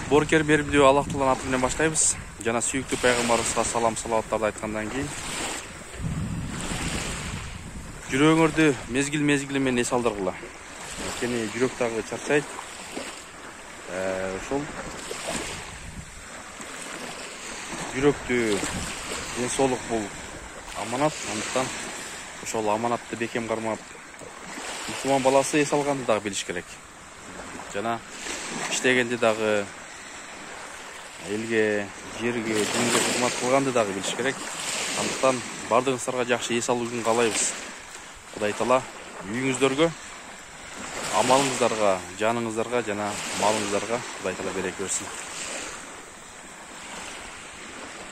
Боркер беримдүү Аллах Тааланын аты менен баштайбыз. Жана сүйүктүү пайгамбарыбызга салам салаваттарды айткандан кийин жүрөгүңөрдү мезгил менен эс алдыргыла. Анткени жүрөк дагы чарчайт. Ошол жүрөктү ден соолук бул аманат. Андыктан ошол аманатты бекем кармап, мусулман баласы эс алганды дагы билиш керек. Жана иштегенде дагы элге, жерге, динге кызмат кылганды дагы билиш керек. Андыктан бардыгыңыздарга жакшы эс алууну каалайбыз. Кудай Таала үйүңүздөргө, амалыңыздарга, жаныңыздарга жана малыңыздарга Кудай Таала береке берсин.